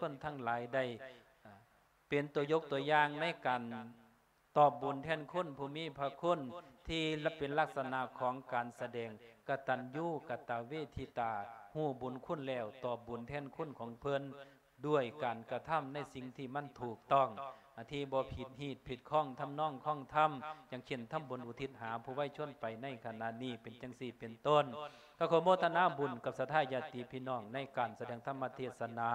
ຄົນທັງຫຼາຍໄດ້ ເປັນຕົວຍົກຕົວຢ່າງໃນການຕອບບຸນແທນຄຸນຜູ້ມີພະຄຸນ ທີ່ເປັນລັກສະນະຂອງການສະແດງກະຕັນຍູກະຕະເວທິຕາ, ຮູ້ບຸນຄຸນແລ້ວຕອບບຸນແທນຄຸນຂອງເພິ່ນ ດ້ວຍການກະທຳໃນສິ່ງທີ່ມັນຖືກຕ້ອງ ທີ່ບໍ່ຜິດຮີດຜິດຄອງທຳນອງຄອງທຳ, ຢ່າງເຊັ່ນ ທຳບຸນອຸທິດຫາຜູ້ໄວຊົນໄປໃນຂະນະນີ້ ເປັນຈັ່ງຊີ້ເປັນຕົ້ນ. ກໍຂໍໂມທະນາບຸນກັບສັດທາຍາດຕິພີ່ນ້ອງໃນການສະແດງທຳມະເທດສະໜາ.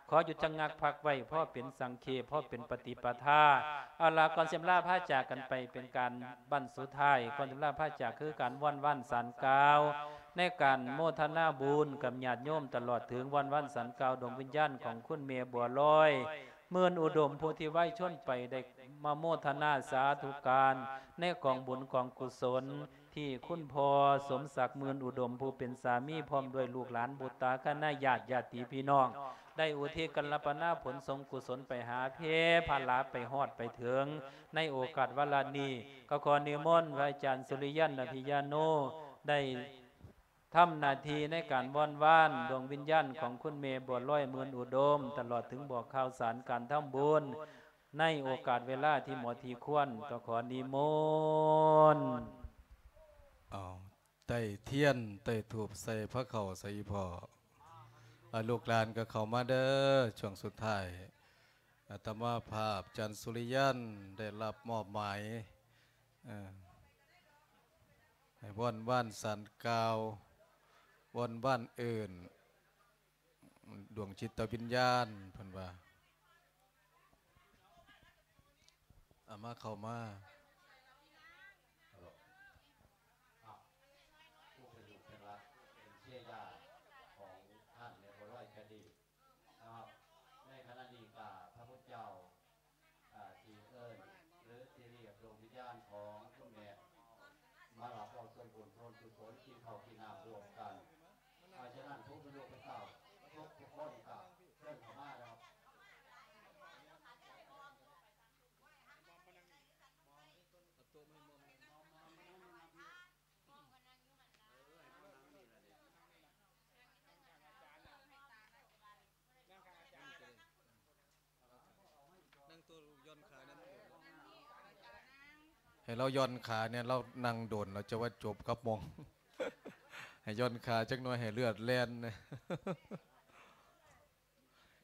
ຂໍຢຸດຊະງັກພັກໄວ້ ພໍເປັນສັງເຂບ ພໍເປັນປະຕິປະທາ. ເອົາລະ ກ່ອນຊິລາພາຈາກກັນໄປ ເປັນການບັ້ນສຸດທ້າຍ ກ່ອນຊິລາພາຈາກ ຄືການວອນວານສານກ່າວ ໃນການໂມທະນາບຸນກັບຍາດໂຍມ ຕະຫຼອດເຖິງວອນວານສານກ່າວດວງວິນຍານຂອງຄຸນແມ່ບົວລອຍ ໝື່ນອຸດົມ ຜູ້ທີ່ໄວຊົນໄປ ໄດ້ມາໂມທະນາສາທຸການໃນກອງບຸນກອງກຸສົນ ທີ່ຄຸນພໍ່ສົມສັກ ໝື່ນອຸດົມ ຜູ້ເປັນສາມີ ພ້ອມດ້ວຍລູກຫຼານບຸດຕາຄະນະຍາດ ຍາດຕິພີ່ນ້ອງ ໄດ້ອຸທິດກັນລະປະນາຜົນສົງກຸສົນໄປຫາເພ ພະລາ ໄປຮອດໄປເຖິງ. ໃນໂອກາດວາລະນີ້ ກໍຂໍນິມົນພະອາຈານສຸລິຍັນ ອະພິຍາໂນ ໄດ້ທຳໜ້າທີ່ໃນການວອນວານດວງວິນຍານຂອງຄຸນແມ່ບົວລອຍ ໝື່ນອຸດົມ ຕະຫຼອດເຖິງບອກຂ່າວສານການທຳບຸນ ໃນໂອກາດເວລາທີ່ເໝາະທີ່ຄວນ ກໍຂໍນິມົນ. ເອົາ ໄຕ້ທຽນໄຕ້ທູບໃສ່ພະເຂົ້າໃສ່ອີ່ພໍ່. ອາ ລູກຫຼານກໍເຂົ້າມາເດີ ຊ່ວງສຸດທ້າຍ ອາດຕະມາພາບ ອາຈານສຸລິຍັນ ໄດ້ຮັບມອບໝາຍ ເອີ ໃຫ້ວອນວານສານກ່າວ ວອນວານເອີ້ນ ດວງຈິດຕະວິນຍານ ເພິ່ນວ່າ ເອົາມາ ເຂົ້າມາ. ເປັນລູກເປັນຫຼານ ເປັນເຊຍຍາຂອງທ່ານແມ່ບົວລອຍກະດີນະຄັບ. ໃນຂະນະນີ້ກະພະພຸດທະເຈົ້າ ອ່າ ທີ່ເອີ້ນ ຫຼື ທີ່ຮຽກດວງວິນຍານຂອງຄຸນແມ່ ມາຮັບເອົາສ່ວນບຸນສ່ວນກຸສົນ ກິນເຂົ້າກິນນ້ຳຮ່ວມກັນ. ເພາະສະນັ້ນ ຜູ້ເປັນລູກເປັນເຕົ້າທຸກໆຄົນກໍເຊີນເຂົ້າມາເນາະ. ໃຫ້ລາວຢ່ອນຂາແດ່ ລາວນັ່ງດົນ ລາວຈະວ່າຈົບກັບໝ່ອງ ໃຫ້ຢ່ອນຂາຈັກໜ່ອຍ ໃຫ້ເລືອດແລ່ນ.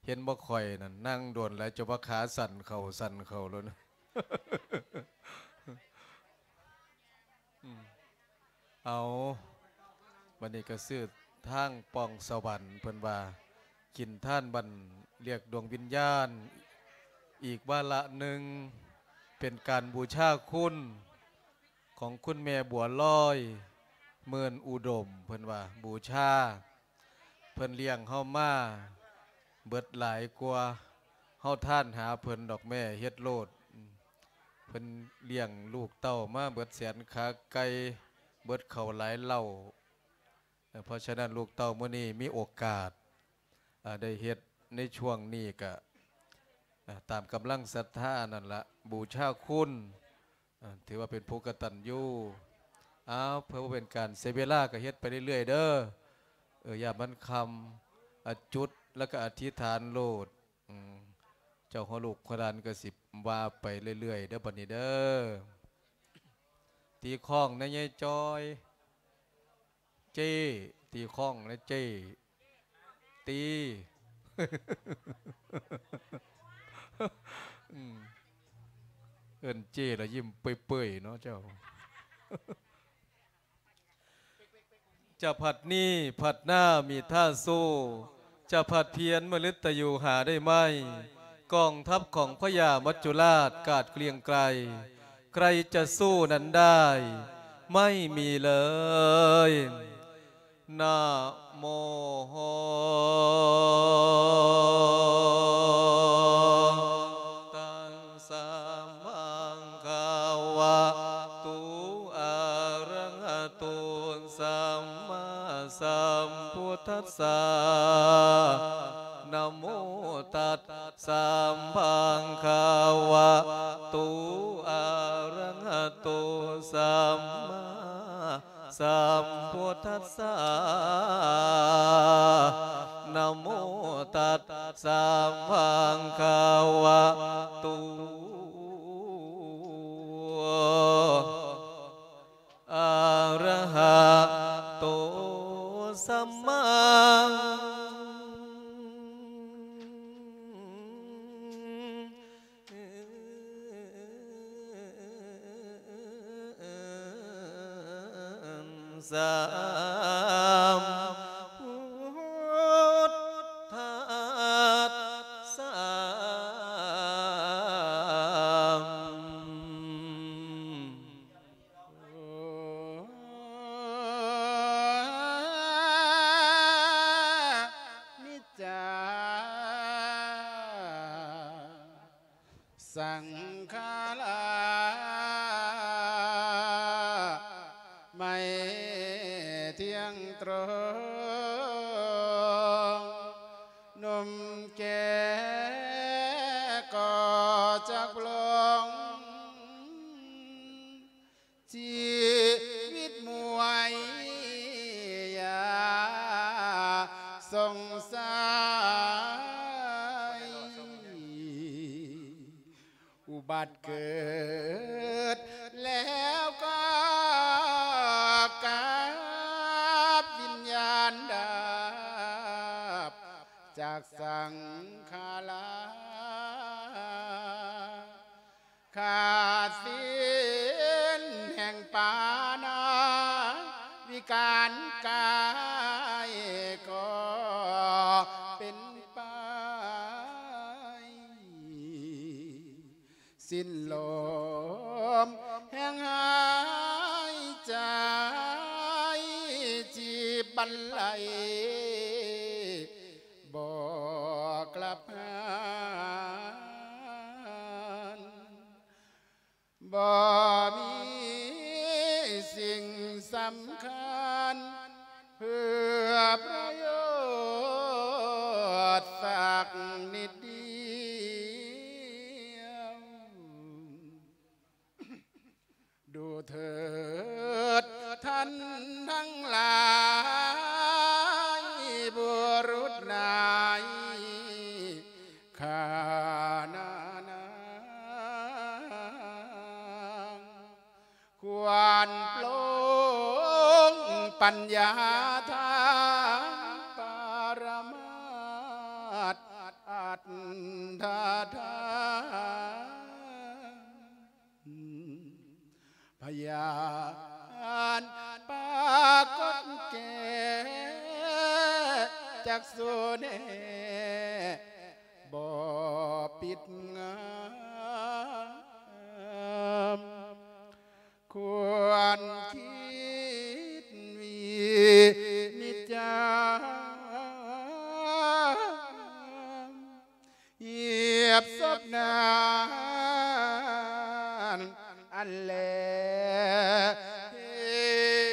ເຫັນບໍ່ ຂ້ອຍນັ້ນນັ່ງດົນແລ້ວ ຈະວ່າຂາສັ່ນເຂົ້າສັ່ນເຂົ້າໂລດ. ອືມ ເອົາ ບັດນີ້ກໍຊື່ທາງປ່ອງສະຫວັນ ເພິ່ນວ່າກິນທານບັ້ນລຽກດວງວິນຍານ ອີກວາລະໜຶ່ງ ເປັນການບູຊາຄຸນຂອງຄຸນແມ່ບົວລອຍ ໝື່ນອຸດົມ ເພິ່ນວ່າບູຊາ ເພິ່ນລ້ຽງເຮົາມາເບິດຫຼາຍກວ່າເຮົາທານຫາເພິ່ນດອກແມ່ ເຮັດໂລດ. ເພິ່ນລ້ຽງລູກເຕົ້າມາເບິດແສນຂາໄກ່ ເບິດເຂົ້າຫຼາຍເລົ້າ. ເພາະສະນັ້ນ ລູກເຕົ້າມື້ນີ້ມີໂອກາດ ເອີ ໄດ້ເຮັດໃນຊ່ວງນີ້ກະ ເອີ ຕາມກຳລັງສັດທານັ້ນລະ ບູຊາຄຸນ ເອີ ຖືວ່າເປັນຜູ້ກະຕັນຍູ. ອ້າວ ເພື່ອບໍ່ເປັນການເສຍເວລາ ກະເຮັດໄປເລື້ອຍໆເດີ. ເອີ ຢ່າມັນຄ່ຳ ອະ ຈຸດ ແລ້ວກະອະທິຖານໂລດ. ອືມ ເຈົ້າ ຫົວລູກຫົວຫຼານກໍຊິວ່າໄປເລື້ອຍໆເດີ ບັດນີ້ເດີ. ຕີຄ້ອງແດ່ຍາຍຈ້ອຍ ເຈ້ ຕີຄ້ອງແດ່ເຈ້ ຕີ ອືມ ເອີ້ນເຈ້ລະຍິ້ມເປີ້ຍໆເນາະເຈົ້າ. ຈະຜັດນີ້ຜັດໜ້າມີທ່າສູ້ ຈະຜັດພຽນມະລຶດຕະຢູ່ຫາໄດ້ໄໝ? ກອງທັບຂອງພະຍາມັດຈຸລາດກາດເກລ້ຽງໄກ ໃຄຈະສູ້ນັ້ນໄດ້ ໄມ່ມີເລີຍ. ນະໂມ ຕັດສະ ພະຄະວະໂຕ ອະຣະຫະໂຕ ສຳມາສຳພຸດທັດສະ. ນະໂມ ຕັດສະ ພະຄະວະໂຕ ອະຣະຫະໂຕ ສຳມາ ສຳພຸດທັດສະ. ນະໂມ ຕັດ ສະຫວັງຄະວະໂຕ ອະຣະຫະໂຕ ສຳມາ ສຳພຸດທະສະ ນິດຈາ ສັງຂາລາ ໄມ່ທ່ຽງຕຣົງ ໜຸ່ມແກ່ກໍຈັກຫຼົງ ຊີວິດໝວຍ ຢ່າສົງໄສ ອຸບັດເກີດແລ້ວກໍກັບວິນຍານດັບ ຈາກສັງຂາລາ ຂາດສິ້ນແຫ່ງປານາ ວິການກາຍກໍເປັນໄປ ສິ້ນລົມແຫ່ງຫາຍໃຈ ຈີບບັນໄລ ບໍ່ກລັບຫານ ບໍ່ມີສິ່ງສຳຄັນ ເພື່ອປະໂຫຍດສັກນິດດຽວ. ດູເຖີດທ່ານທັງຫຼາຍ ບຸລຸດນາຍຂ້ານານາງ ຄວນປົງປັນຍາທາງປະຣະມາດ ອັດຖະທາ ພະຍານປາກົດແກ່ຈັກສຸແນ ບໍ່ປິດງາມ ຄວນຄິດວິນິດຈາ ຫຽບສົບນານອັນແລເຫັນ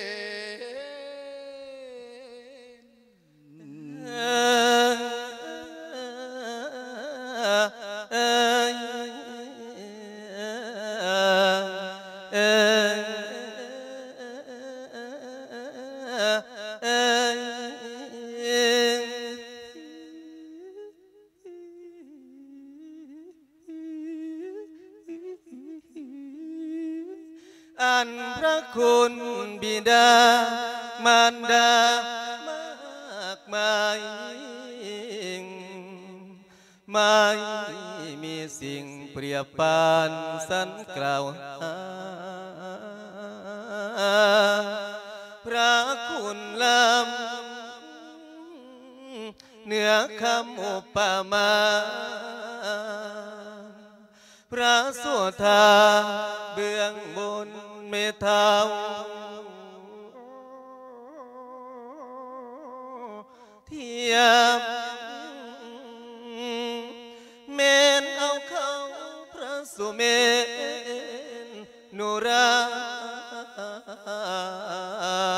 ອັນພະຄຸນບິດາມານດາມາກມາຍ ໄມ່ມີສິ່ງປຽບປານສັນກ່າວຫາ ພະຄຸນລ້ຳ ເໜືອຄຳອຸປະມາ ພະໂສທາເບື້ອງບົນແມ່ທ້າວທຽບ ແມ່ນເອົາເຂົ້າພະສຸເມນ ນຸຣາ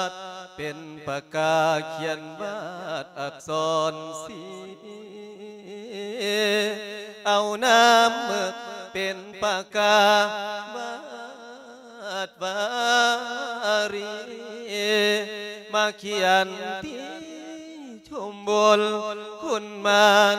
ດ ເປັນປາກາຂຽນວາດອັກສອນສີ ເອົານ້ຳເໝິກເປັນປາກາວາດວາຣີ ມາຂຽນທີ່ຊົມບົນຄຸນມານ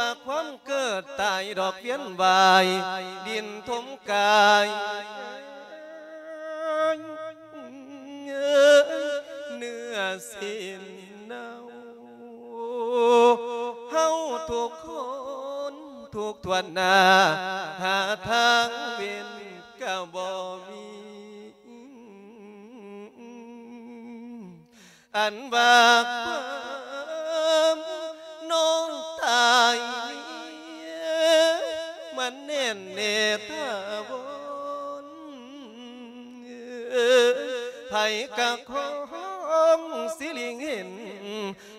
ວ່າຄວາມເກີດຕາຍດອກວຽນວ່າຍ ດິນຖົມກາຍ ເນື້ອສິ້ນເນົ່າ ເຮົາທຸກຄົນທຸກຖ້ວນໜ້າ ຫາທາງເວັ້ນກະບໍ່ມີ ອັນວ່າຄວາມນ້ອງຕາຍນີ້ ມັນແໜ້ນແນ່ຖາວອນ ໃຜກະຄອງຊິລິງເຫັນ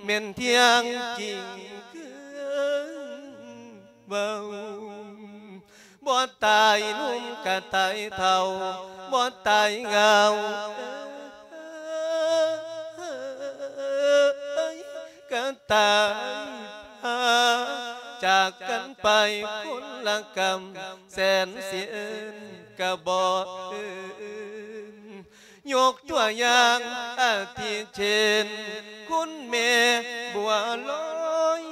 ແມ່ນທ່ຽງຈິງຄືເວົ້າ ບໍ່ຕາຍໜຸ່ມກະຕາຍເຖົ້າ ບໍ່ຕາຍເຫງົາກະຕາຍພາ ຈາກກັນໄປຄົນລະກຳ ແສນຊິເອີ້ນກະບໍ່ເອີ້ນ ຍົກຕົວຢ່າງອາທິເຊັ່ນ ຄຸນແມ່ບົວລອຍ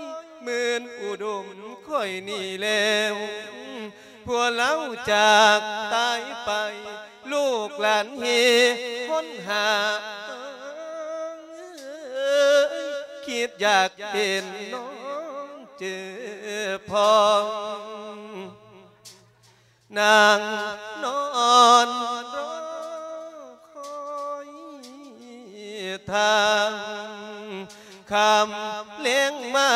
ໝື່ນອຸດົມຂ້ອຍນີ້ແລ້ວ ຜົວລາວຈາກຕາຍໄປ ລູກຫຼານເຮຫົນຫາ ຄິດຢາກເຫັນນ້ອງເຈີພ້ອມ ນັ່ງນອນລໍຄອຍທ່າ ຄ່ຳແລງມາ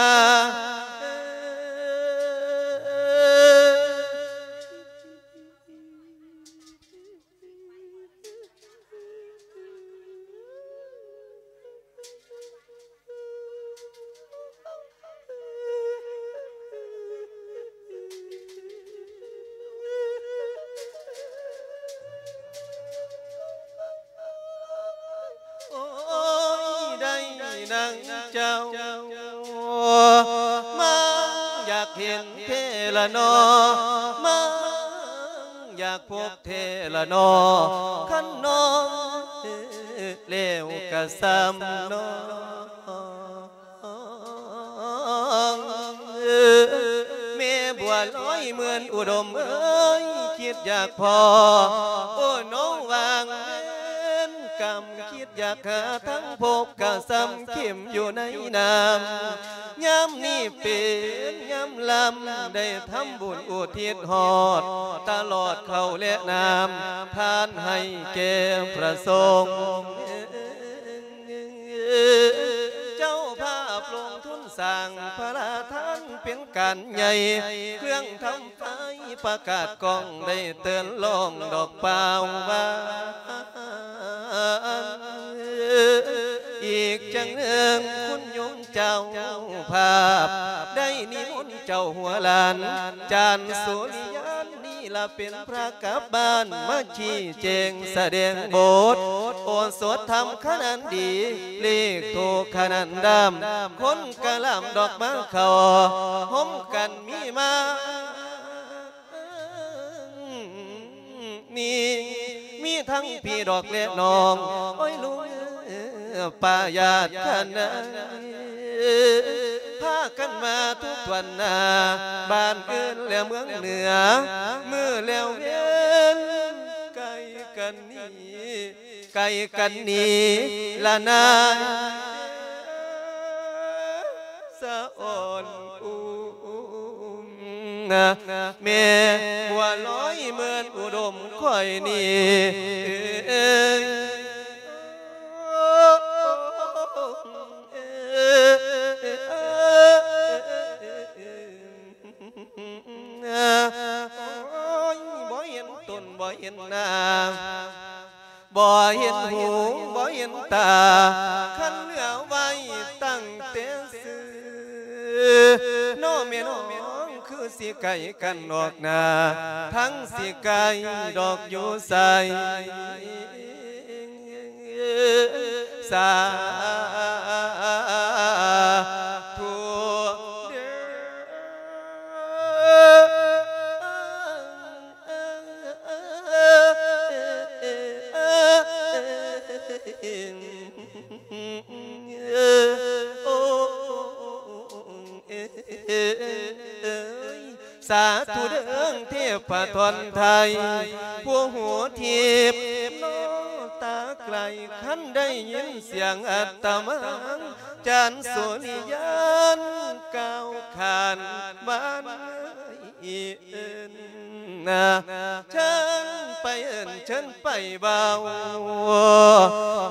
ໂອ້ຍ ໄດ້ນາງເຈົ້າ ມັງຢາກເຫັນແທ້ລະນໍ ມັງຢາກພົບແທ້ລະນໍ ຄັນນ້ອງແລ້ວກະຊ່ຳນ້ອງ ແມ່ບົວລອຍເໝືອນອຸດົມເອີຍ ຄິດຢາກພໍ້ ໂອ້ ນ້ອງຫວ່າງເວນກຳ ຄິດຢາກຫາທາງພົບກະຊ່ຳເຂັມຢູ່ໃນນ້ຳ ຍາມນີ້ເປັນຍາມລຳ ໄດ້ທຳບຸນອຸທິດຮອດ ຕະຫຼອດເຂົ້າແລະນ້ຳ ທານໃຫ້ແກ່ພະສົງ ເຈົ້າພາບລົງທຶນສ້າງພະລາທານ ເປັນການໃຫຍ່ ເຄື່ອງທຳໄຟປະກາດກ້ອງ ໄດ້ເຕືອນລອງດອກປ່າວຫວານ ອີກຈັ່ງໜຶ່ງຄຸນໂຍມເຈົ້າພາບ ໄດ້ນິມົນເຈົ້າຫົວຫຼານ ຈານສຸລິຍານ ນີ້ລະເປັນພະກັບບ້ານ ມາຊີ້ແຈງສະແດງບົດ ໂອສົດທຳຂະໜານດີ ເລກໂທຂະໜານດຳ ຄົນກະລຳດອກມາເຂົ້າ ຮົມກັນມີມາ ນີ້ ມີທັງພີ່ດອກແລະນ້ອງ ໂອ້ຍ ລຸງເອີ ປ້າຍາດຄະນາ ພາກັນມາທຸກຖ້ວນໜ້າ ບ້ານອື່ນແລະເມືອງເໜືອ ມື້ແລ້ວເວັນໄກກັນນີ້ ໄກກັນນີ້ລະນາ ສະອອນອຸມ ແມ່ບົວລອຍເໝືອນອຸດົມຂ້ອຍນີ້ ບໍ່ເຫັນຫູບໍ່ເຫັນຕາ ຄັນເຫຼືອໄວ້ຕັ້ງແຕ່ຊື່ ນ້ອງແມ່ນ້ອງຄືຊິໄກກັນອອກໜ້າ ທັງຊິໄກດອກຢູ່ໃສ ສາທຸເດີ. ສາທຸເດີເທບພະທອນໄທ ຜູ້ຮູ້ທິບໂນຕາໄກ ຄັນໄດ້ຍິນສຽງອັດຕະມັງ ຈານສຸລິຍານ ກ່າວຂານບ້ານເອີນນາ ເຊີນໄປເອີ້ນ ເຊີນໄປເວົ້າ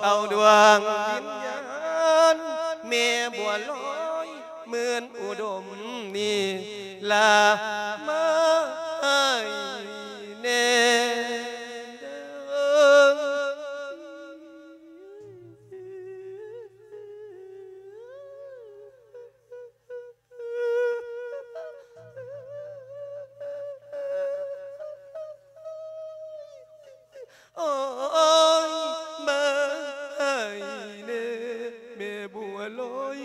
ເອົາດວງວິນຍານ ແມ່ບົວລອຍ ໝື່ນອຸດົມນີ້ລາມາໃຫ້ແດ່ເດີ. ໂອ້ຍ ມາໃຫ້ແດ່ ແມ່ບົວລອຍ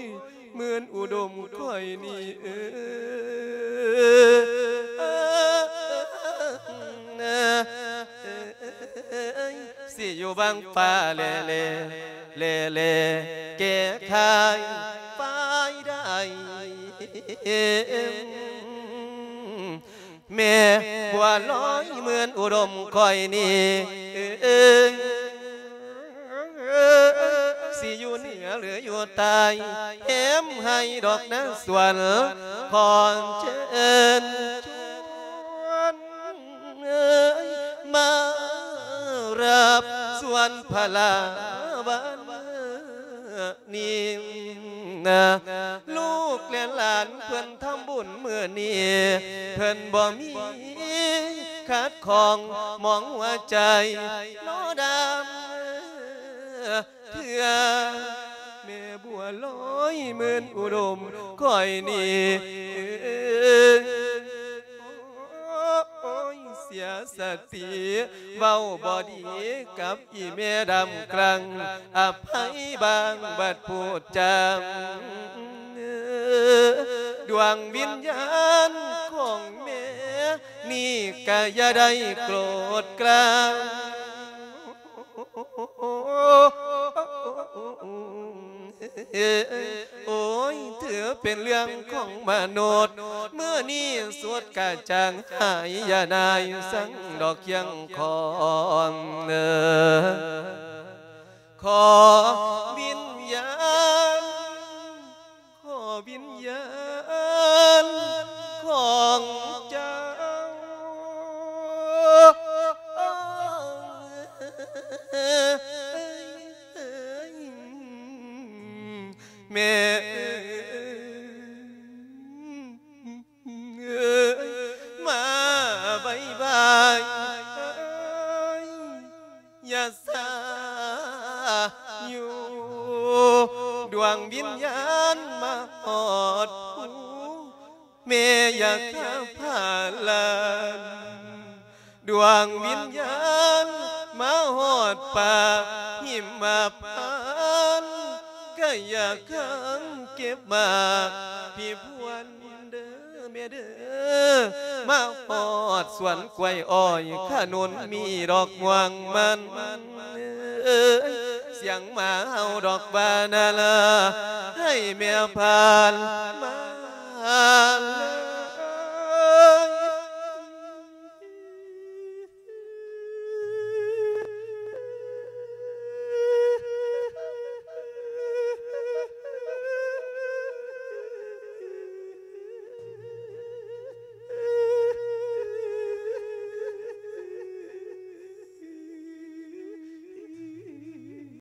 ໝື່ນອຸດົມຂ້ອຍນີ້ເອີຍ ຊິຢູ່ບັ້ງຟ້າແລໆ ແລແລແກ້ໄຂຝ່າຍໃດ ແມ່ບົວລອຍເໝືອນອຸດົມຂ້ອຍນີ້ ຊິຢູ່ເໜືອຫຼືຢູ່ໃຕ້ ແຖມໃຫ້ດອກນາງສວນ ຂໍເຊີນຊວນ ເອີຍ ມາຮັບສວນພະລາວັນນີ້ນະ ລູກແລະຫຼານເພິ່ນທຳບຸນມື້ນີ້ ເພິ່ນບໍ່ມີຂັດຂ້ອງໝອງຫົວໃຈ ລໍດຳ ເທື່ອ ແມ່ບົວລອຍໝື່ນອຸດົມຂ້ອຍນີ້ ໂອ້ຍ ເສຍສະຕິ ເວົ້າບໍ່ດີກັບອີ່ແມ່ດຳກລັງ ອະໄພບາງບັດພູດຈາ ດວງວິນຍານຂອງແມ່ນີ້ກະຢ່າໄດ້ໂກດກາງ ໂອ້ຍ ຖືເປັນເລື່ອງຂອງມະນຸດ ມື້ນີ້ສຸດກະຈ່າງຫາຍ ຢ່ານາຍສັງດອກຄຽງຄອນ ຂໍວິນຍານ ຂໍວິນຍານຂອງເຈົ້າ ແມ່ເອີຍ ມາໄວໆ ຢ່າຊ້າຢູ່ ດວງວິນຍານມາຮອດພູ ແມ່ຢາກຫາພາລານ ດວງວິນຍານມາຮອດປ່າຫິມະພານ ກະຢາກຫາເກັບໝາກພີພວນເດີ ແມ່ເດີ ມາຮອດສວນກ້ວຍອ້ອຍຂະໜູນມີດອກມ່ວງມັນ ສຽງໝາເຫົ່າດອກບານາລາ ໃຫ້ແມ່ພານມາ